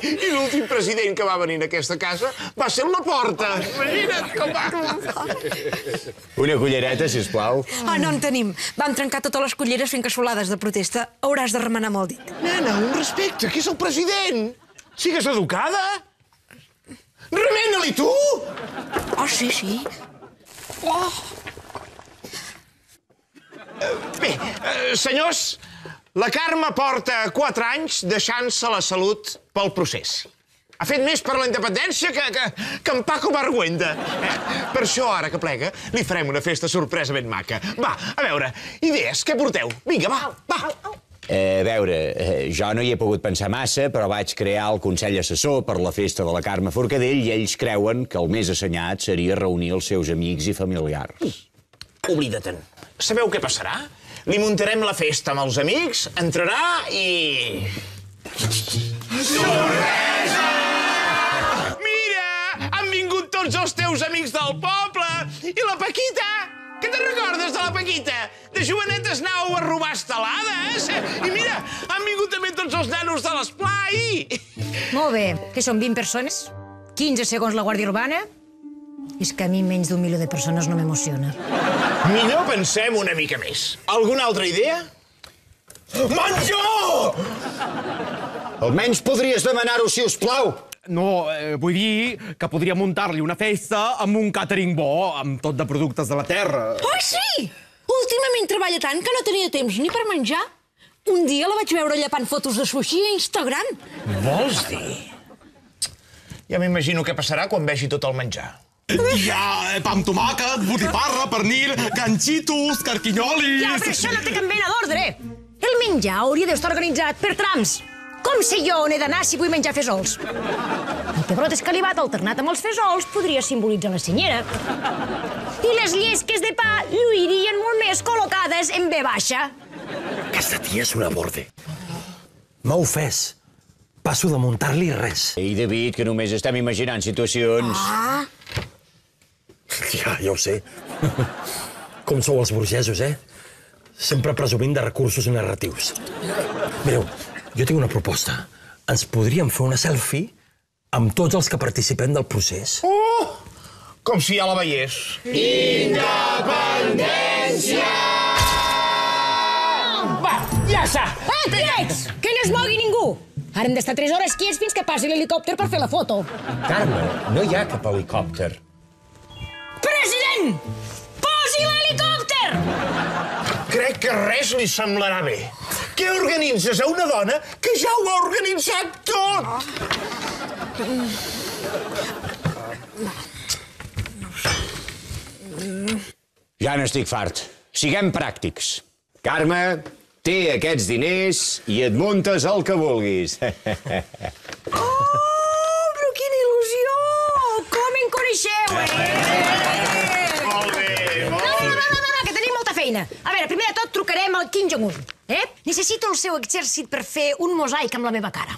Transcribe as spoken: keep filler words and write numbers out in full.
I l'últim president que va venir a aquesta casa va ser el Laporta. Imagina't com va. Una cullereta, sisplau. Ah, no en tenim. Vam trencar totes les culleres fent cassolades de protesta. Hauràs de remenar amb el dit. Nena, un respecte, que és el president. Sigues educada. Remena-li, tu! Oh, sí, sí. Oh. Bé, eh, senyors, la Carme porta quatre anys deixant-se la salut pel procés. Ha fet més per la independència que, que, que en Paco Barguenda. Eh? Per això, ara que plega, li farem una festa sorpresa ben maca. Va, a veure, idees, què porteu? Vinga, va, va. Eh, a veure, eh, jo no hi he pogut pensar massa, però vaig crear el Consell Assessor per la festa de la Carme Forcadell i ells creuen que el més assenyat seria reunir els seus amics i familiars. Oblida-te'n. Sabeu què passarà? Li muntarem la festa amb els amics, entrarà i... Sorpresa! Mira! Han vingut tots els teus amics del poble! I la Paquita! Que te'n recordes de la Paquita? De jovenetes anàveu a robar estelades! I mira, han vingut també tots els nanos de l'esplai! Molt bé. Que són vint persones? quinze segons la Guàrdia Urbana? És que a mi menys d'un milió de persones no m'emociona. Millor pensem una mica més. Alguna altra idea? Menjó! Almenys podries demanar-ho, si us plau. No, eh, vull dir que podria muntar-li una festa amb un càtering bo, amb tot de productes de la terra. Oh, sí! Últimament treballa tant que no tenia temps ni per menjar. Un dia la vaig veure llepant fotos de sushi a Instagram. Vols dir? Ja m'imagino què passarà quan vegi tot el menjar. Hi ha pa amb tomàquet, botifarra, pernil, ganxitos, carquinyolis... Ja, però això no té cap mena d'ordre. El menjar hauria d'estar organitzat per trams. Com sé jo on he d'anar si vull menjar fesols? El pebrot escalivat alternat amb els fesols podria simbolitzar la senyera. I les llesques de pa lluirien molt més col·locades en ve baixa. Aquesta tia és una borde. M'ha ofès. Passo de muntar-li res. Ei, David, que només estem imaginant situacions. Ah! Ja, ja ho sé. Com sou els burgesos, eh? Sempre presumint de recursos narratius. Mireu, jo tinc una proposta. Ens podríem fer una selfie amb tots els que participem del procés. Oh! Com si ja la veiés. Independència! Va, ja està! Eh, quiets! Que no es mogui ningú! Ara hem d'estar tres hores quiets fins que passi l'helicòpter per fer la foto. Carme, no hi ha cap helicòpter. President! Posi l'helicòpter! Crec que res li semblarà bé. Què organitzes a una dona que ja ho ha organitzat tot? Ja n'estic fart. Siguem pràctics. Carme, té aquests diners i et muntes el que vulguis. Oh, però quina il·lusió! Com en coneixeu, eh? Molt bé, No, no, no, no, no, que tenim molta feina. A veure, primer de tot trucarem al Kim Jong-un, eh? Necessito el seu exèrcit per fer un mosaic amb la meva cara.